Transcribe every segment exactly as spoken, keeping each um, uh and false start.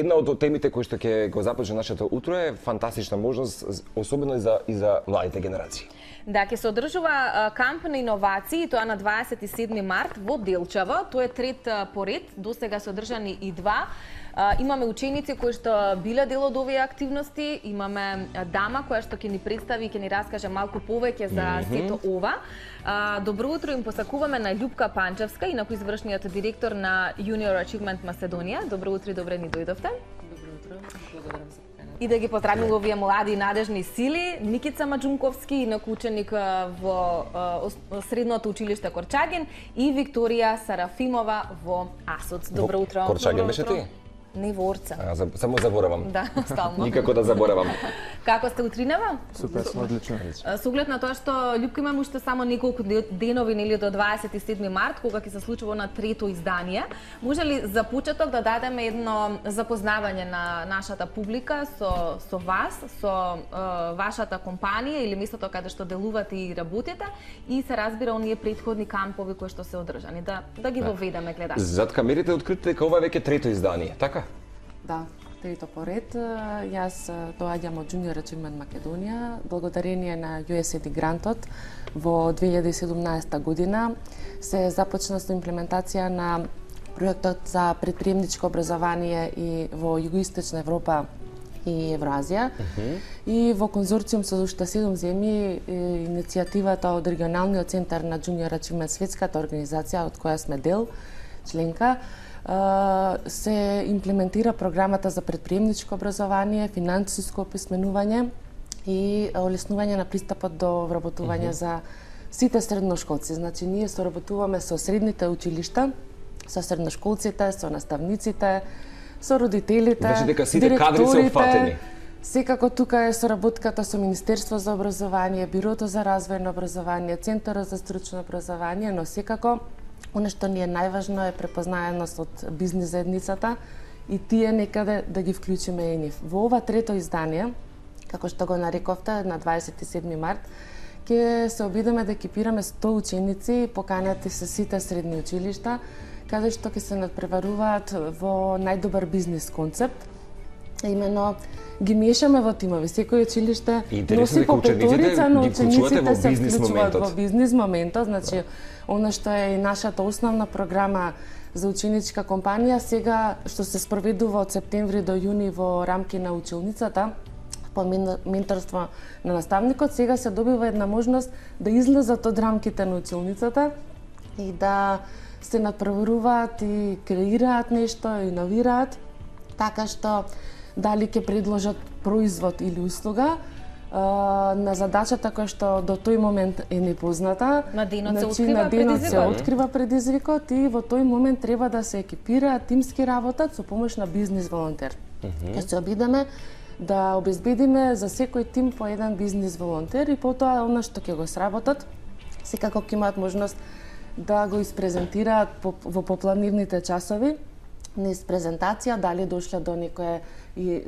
Една од темите кои што ќе го започне нашето утро е фантастична можност, особено и за и за младите генерации. Да, ќе се одржува камп на иновации, тоа на дваесет и седми март во Делчево. Тоа е трет поред, досега се одржани и два. Имаме ученици кои што биле дел од овие активности, имаме дама која што ќе ни представи и ќе ни раскаже малку повеќе за mm -hmm. сето ова. Добро утро им посакуваме на Љупка Панчевска, инаку извршниот директор на Junior Achievement Macedоnia. Добро утро и добре ни дојдовте. Добро утро, благодарам за поканата. И да ги поздравиме овие млади и надежни сили, Никица Маџунковски, инаку ученик во средното училиште Корчагин, и Викторија Сарафимова во АСОЦ. Добро утро. Корчагин беше ти? Не во Орца. А, за, само заборавам. Да, стално. Никако да заборавам. Како сте утринава? Супер, одлично. Со оглед на тоа што Љупка имаме уште само неколку денови нели до дваесет и седми март, кога ќе се случува на трето издание, може ли за почеток да дадеме едно запознавање на нашата публика со со вас, со е, вашата компанија или местото каде што делувате и работите, и се разбира оние претходни кампови кои што се одржани, да да ги воведеме гледачите. Зад камерите открите дека ова е веќе трето издание, така? Да, трето поред. Јас доаѓам од Junior Achievement Macedоnia, благодарение на ю ес ей ди грантот во две илјади и седумнаесета година се започна со имплементација на проектот за претприемничко образование и во Југоисточна Европа и Евразија. Uh -huh. И во конзорциум со уште седум земји иницијативата од регионалниот центар на Junior Achievement, светската организација од која сме дел, членка, се имплементира програмата за претприемничко образование, финансиско описменување и олеснување на пристапот до вработување uh -huh. за сите средношколци. Значи, ние соработуваме со средните училишта, со средношколците, со наставниците, со родителите, Значи дека сите кадри се опфатени. Секако тука е соработката со Министерство за образование, Бирото за развој на образование, Центарот за стручно образование, но секако оно што ни е најважно е препознаеност од бизнис заедницата и тие некаде да ги вклучиме и нив. Во ова трето издание, како што го нарековте, на дваесет и седми март, ќе се обидеме да екипираме сто ученици, поканети се сите средни училишта, каде што ќе се надпреваруваат во најдобар бизнис концепт. Имено ги мешаме во тимови. Секој училиште носи по петорица, но учениците се вклучуваат во бизнис моментот. Значи, она што е и нашата основна програма за ученичка компанија, сега што се спроведува од септември до јуни во рамки на училницата, по менторство на наставникот, сега се добива една можност да излезат од рамките на училницата и да се надпреваруваат и креираат нешто, иновираат, така што дали ќе предложат производ или услуга на задачата која што до тој момент е непозната. На денот се значи, открива на денот се предизвикот. открива предизвикот и во тој момент треба да се екипираат, тимски работат со помош на бизнис волонтер. Mm -hmm. Ќе се обидеме да обезбедиме за секој тим по еден бизнис волонтер и потоа она што ќе го сработат, секако ќе имаат можност да го испрезентираат во попланивните часови, низ презентација, дали дошле до некое и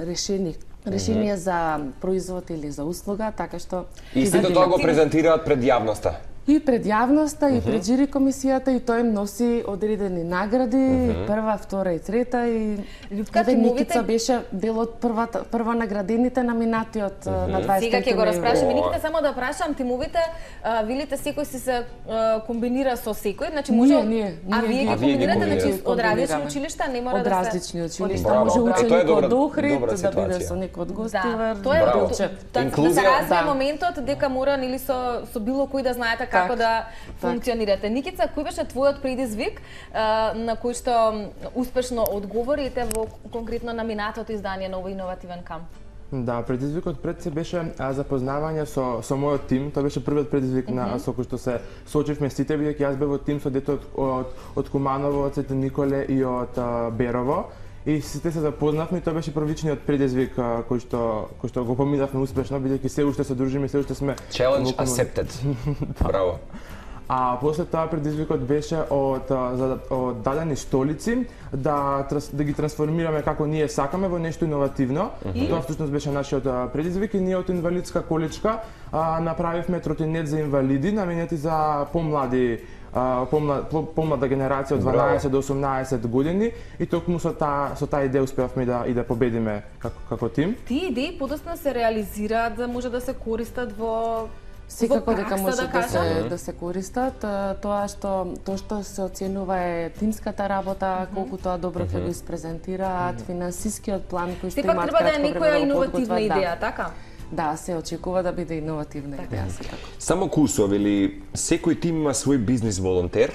решение решение mm -hmm. за производ или за услуга, така што и сите тоа го презентираат пред јавноста. И пред јавноста, mm -hmm. и пред жири комисијата, и тој им носи одредени награди, mm -hmm. прва, втора и трета, и Љупка, Никица беше дел од првата прва наградените номинати од mm -hmm. на дваесет. Сега ќе го распрашаме. Никица, само да прашам, тимовите, велите секој си се комбинира со секој, значи може Ние, ние, а ние вие ги ги комбинирате, значи од различни комбинираме. училишта, не мора Од да се различни училишта, Браво. може Е, тоа е ученик добра- од Охрид добра да биде ситуација. со некој од Да, Гостивар. тоа е Браво. да се Инклузија. развие Да. моментот дека мора нели со со било кој да знаете како Так, да так. функционирате. Никица, кој беше твојот предизвик а, на кој што успешно одговорите во конкретно на минатото издание на овој иновативен камп? Да, предизвикот пред се беше а, запознавање со со мојот тим. Тоа беше првиот предизвик mm -hmm. на со кој што се соочивме сите, бидејќи јас бев во тим со дете од од, од Куманово, од Свети Николе и од а, Берово. И сите се запознавме и тоа беше првичниот предизвик а, кој што кој што го поминавме успешно, бидејќи се уште се дружиме, се уште сме Challenge accepted. Браво. А после тоа предизвикот беше од за од дадени столици да да ги трансформираме како ние сакаме во нешто иновативно. Mm -hmm. Тоа всушност беше нашиот предизвик и ние од инвалидска количка а, направивме тротинет за инвалиди наменети за помлади а, помлад, помлада генерација од дванаесет до осумнаесет години и токму со таа со таа идеја успеавме да и да победиме како како тим. Тие идеи подоцна се реализираат за може да се користат во Секако во дека пракса, може да да, кажам. се да се користат. Тоа што тоа што се оценува е тимската работа, колку тоа добро ќе го испрезентираат, финансискиот план кој што Сепак имаат треба да е кратко некоја време да го иновативна подготват, идеја, да. така? Да, се очекува да биде иновативна идеја секако. Само курсови или секој тим има свој бизнис волонтер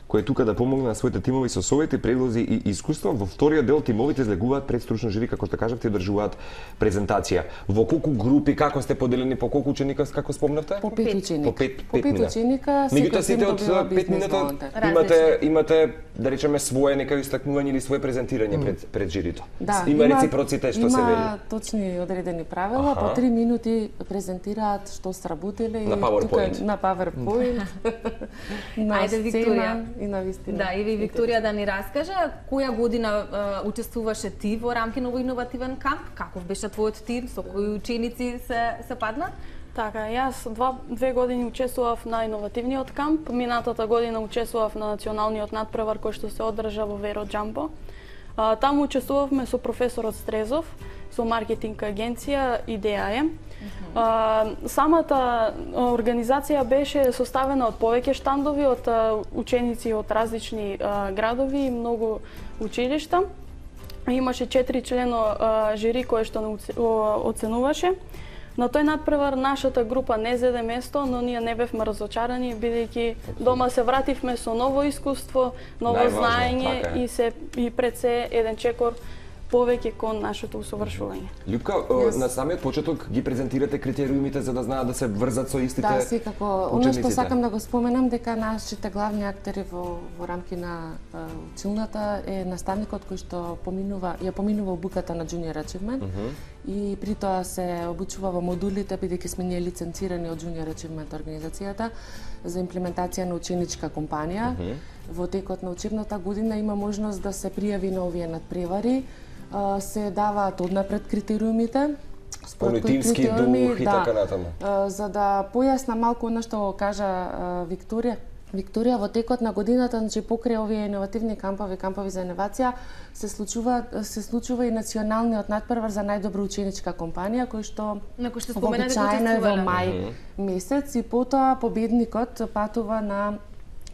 кој е тука да помогне на своите тимови со совети, предлози и искуства. Во вториот дел тимовите излегуваат пред стручно жури, како што кажавте, одржуваат презентација. Во колку групи, како сте поделени, по колку ученика, како спомнавте? По пет ученика. По пет, По пет пет мина. ученика, Меѓутоа секој сите тим од добива пет бизнес минута волонтер. имате имате да речеме свое нека истакнување или свое презентирање пред пред жирито. Да, има реципроцитет што се вели. Има точни одредени правила, Аха. по три минути презентираат што сработиле На PowerPoint. тука на PowerPoint. на Ајде, сцена Викторија. и на вистина. Да, и ви Викторија да ни раскаже која година е, учествуваше ти во рамки на овој иновативен камп? Каков беше твојот тим, со кои ученици се се падна? Така, јас два, две години учествував на иновативниот камп, минатата година учествував на националниот надпревар кој што се одржа во Веро Џамбо. А, таму учествувавме со професорот Стрезов, со маркетинг агенција Идеаем. А, самата организација беше составена од повеќе штандови, од а, ученици од различни а, градови и многу училишта. Имаше четири члено а, жири кое што не оце- о- оценуваше. На тој надпревар нашата група не зеде место, но ние не бевме разочарани, бидејќи дома се вративме со ново искуство, ново Најважно, знаење така е. и се и пред се еден чекор повеќе кон нашето усовршување. Љупка, Јас- на самиот почеток ги презентирате критериумите за да знаат да се врзат со истите Да, секако. Оно што учениците. сакам да го споменам дека нашите главни актери во во рамки на а, училната е наставникот кој што поминува ја поминува обуката на Junior Achievement и при тоа се обучува во модулите бидејќи сме ние лиценцирани од Junior Achievement организацијата за имплементација на ученичка компанија. Во текот на учебната година има можност да се пријави на овие надпревари. А, се даваат однапред критериумите. според Оној кои тимски критериуми, дух и така натаму. А, за да појасна малку она што го кажа а, Викторија. Викторија, во текот на годината, значи покрај овие иновативни кампови, кампови за иновација, се случува се случува и националниот надпревар за најдобра ученичка компанија, кој што На кој што споменате дека вообичаено е во учествувале. мај месец и потоа победникот патува на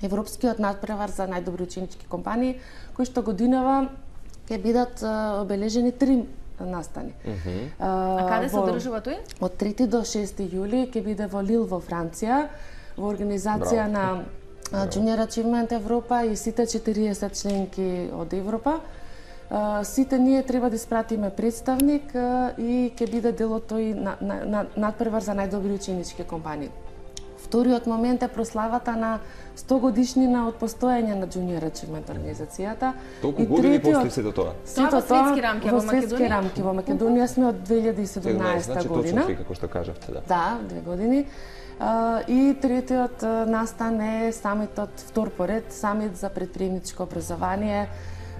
Европскиот надпревар за најдобри ученички компании, кој што годинава ќе бидат а, обележени три настани. А каде се во- одржува тој? Од трети до шести јули ќе биде во Лил во Франција, во организација Браво. на а, Junior Achievement Европа и сите четириесет членки од Европа. А, Сите ние треба да испратиме представник а, и ќе биде дел од тој на, на, на, надпревар за најдобри ученички компании. Вториот момент е прославата на сто годишнина од постоење на Junior Achievement организацијата. Толку И години третиот- постои сето тоа. Сето Тоа во светски рамки, а во светски Македонија? рамки. Во Македонија сме од две илјади и седумнаесета значи година. точно како што кажавте, да. Да, две години. А, и третиот а, настан е самитот втор поред, самит за предприемничко образование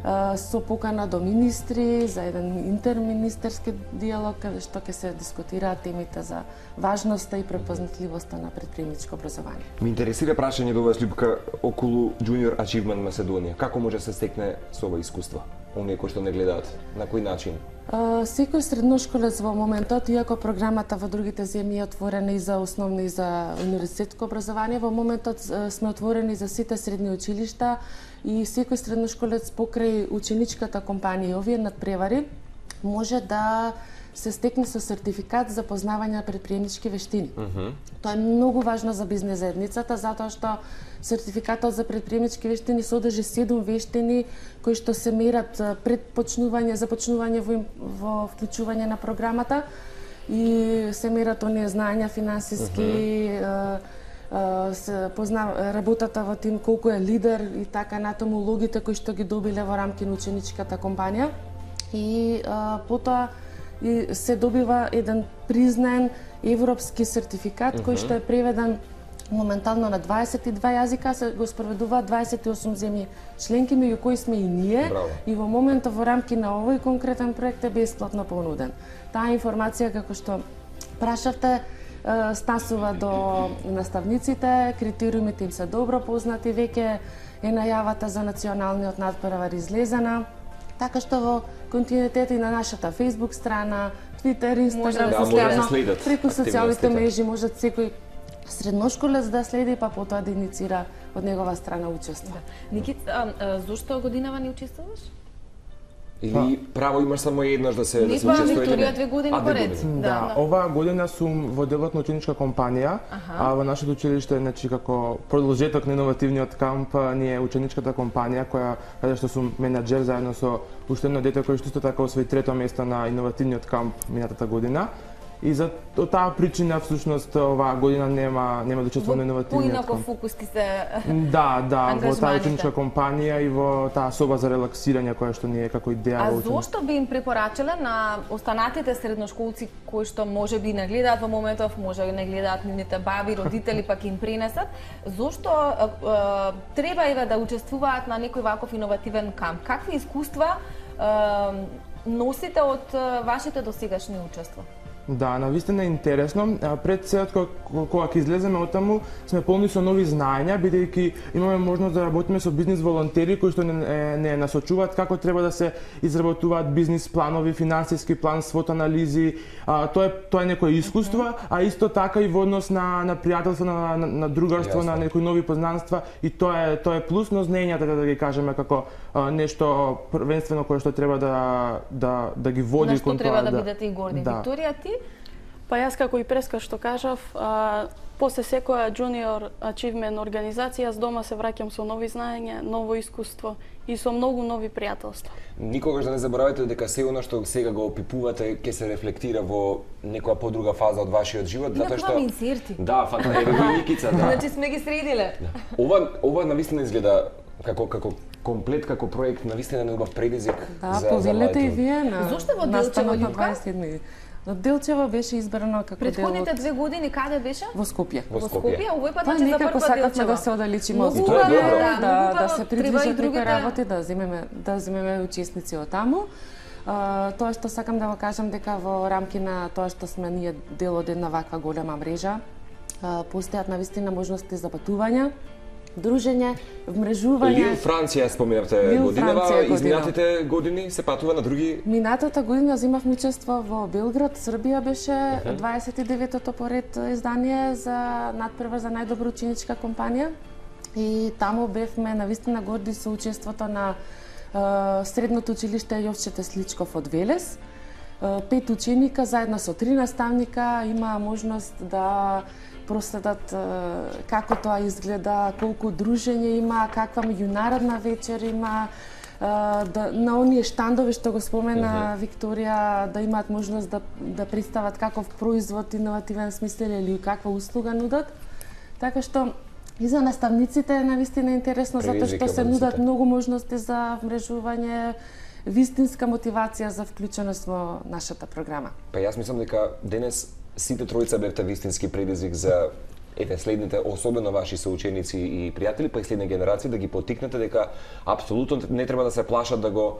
а, со покана до министри за еден интерминистерски диалог каде што ќе се дискутираат темите за важноста и препознатливоста на предприемничко образование. Ме интересира прашање до вас, Љупка, околу Junior Achievement Македонија. Како може да се стекне со ова искуство? Оние кои што не гледаат, на кој начин? А, Секој средношколец во моментот, иако програмата во другите земји е отворена и за основно и за универзитетско образование, во моментот а, сме отворени за сите средни училишта и секој средношколец покрај ученичката компанија и овие надпревари може да се стекне со сертификат за познавање на предприемнички вештини. Тоа е многу важно за бизнес заедницата затоа што сертификатот за предприемнички вештини содржи седум вештини кои што се мерат а, пред почнување, започнување во, им- во вклучување на програмата и се мерат оние знаења финансиски, а, а, се позна работата во тим, колку е лидер и така натаму, улогите кои што ги добиле во рамки на ученичката компанија и а, потоа и се добива еден признаен европски сертификат кој што е преведен моментално на дваесет и два јазика, се го спроведуваат дваесет и осум земји членки, меѓу кои сме и ние. Браво. И во моментот во рамки на овој конкретен проект е бесплатно понуден. Таа информација, како што прашавте, стасува до наставниците, критериумите им се добро познати, веќе е најавата за националниот надпревар излезена, така што во континуитет и на нашата Facebook страна, Twitter, Instagram, да, последно, преку социјалните мрежи можат секој средношколец да следи, па потоа да иницира од негова страна учество. Да. Никит, а, а, зошто годинава не учествуваш? Или право имаш само еднаш да се да се Не, учествува или Викторија не? две години А, две поред. години. Да, Да, да. оваа година сум во делот на ученичка компанија, а во нашето училиште, значи како продолжеток на иновативниот камп, ни е ученичката компанија која каде што сум менаџер заедно со уште едно дете кој што исто така освои трето место на иновативниот камп минатата година. И за од таа причина всушност оваа година нема нема да учествувам на иновативниот Поинако камп. фокус ти се Да, да, во таа ангажманите. ученичка компанија и во таа соба за релаксирање која што ни е како идеја А во ученичка. зошто би им препорачале на останатите средношколци кои што може би не гледаат во моментов, може да не гледаат нивните баби, родители, пак им пренесат, зошто а, а, треба еве да учествуваат на некој ваков иновативен камп? Какви искуства а, носите од а, вашите досегашни учества? Да, навистина е интересно. А, Пред се кога кога ќе излеземе оттаму, сме полни со нови знаења, бидејќи имаме можност да работиме со бизнис волонтери кои што не, е, не насочуваат како треба да се изработуваат бизнис планови, финансиски план, свот анализи. А, тоа е тоа е некое искуство, а исто така и во однос на на пријателство, на, на, на другарство, Јасно. на некои нови познанства, и тоа е тоа е плюс, но знаењата да ги кажеме како а, нешто првенствено кое што треба да да да ги води На што кон треба тоа да бидете и горди? Да. Викторија, ти? Па јас како и преска што кажав, а, после секоја junior achievement организација, јас дома се враќам со нови знаења, ново искуство и со многу нови пријателства. Никогаш да не заборавате дека се она што сега го опипувате ќе се рефлектира во некоја подруга фаза од вашиот живот, И затоа што направам инсерти. Да, фата еве го и Никица, да. Значи сме ги средиле. Ова ова навистина изгледа како како комплет, како проект, навистина на убав предизвик Да, за за повелете и младите. вие на Зошто во настанот Делчево, на Љупка? дваесет и седми. Но Делчево беше избрано како дел Предходните од две години каде беше? во Скопје. Во Во Скопје. Скопје, овој пат Па значи за некако прв пат сакавме Делчево. да се оддалечиме од Многу И тоа е Скопје, добро. убаво, да, многу да убаво. се Треба и придвижат некои другите- работи, да земеме да земеме учесници од таму. А, тоа што сакам да го кажам дека во рамки на тоа што сме ние дел од една ваква голема мрежа, а, постојат навистина можности за патување, дружење, вмрежување. Лил Франција споменавте Лил годинава, Франција година. изминатите години се патува на други. Минатата година земавме учество во Белград, Србија беше дваесет и деветото поред издание за надпревар за најдобра ученичка компанија. И таму бевме навистина горди со учеството на е, средното училиште Јовче Тесличков од Велес. Е, Пет ученика заедно со три наставника има можност да проследат е, како тоа изгледа, колку дружење има, каква меѓународна вечер има, е, да, на оние штандови што го спомена Викторија, да имаат можност да, да представат каков производ, иновативен смисел или каква услуга нудат. Така што и за наставниците е навистина интересно, затоа Предизвик што се за нудат сите. многу можности за вмрежување, вистинска мотивација за вклученост во нашата програма. Па јас мислам дека денес сите тројца бевте вистински предизвик за еве следните, особено ваши соученици и пријатели, па и следни генерации, да ги поттикнете дека апсолутно не треба да се плашат да го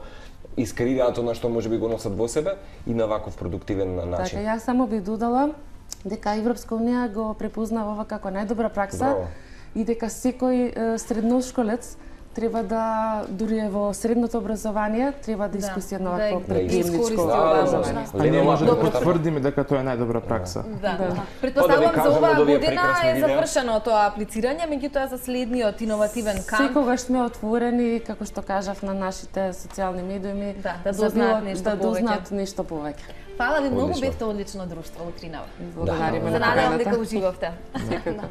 искреираат она што може би го носат во себе и на ваков продуктивен начин. Така, јас само би додала дека Европска унија го препознава ова како најдобра пракса. Браво. И дека секој е, средношколец треба да, дури е во средното образование, треба да искуси едно да вакво ја предприемничко искористи образование. ова. А ние може да Добро. потврдиме дека тоа е најдобра пракса. Да. Да. Претпоставам Па да ви за кажам оваа од овие година прекрасни е видеа. завршено тоа аплицирање, меѓутоа за следниот иновативен камп. Секогаш сме отворени, како што кажав, на нашите социјални медиуми, Да, да за дознаат било- нешто да повеќе. дознаат нешто повеќе. Фала ви многу, Одлично. бевте одлично друштво утринава. Благодариме Се на надевам поканата. дека уживавте. Секако.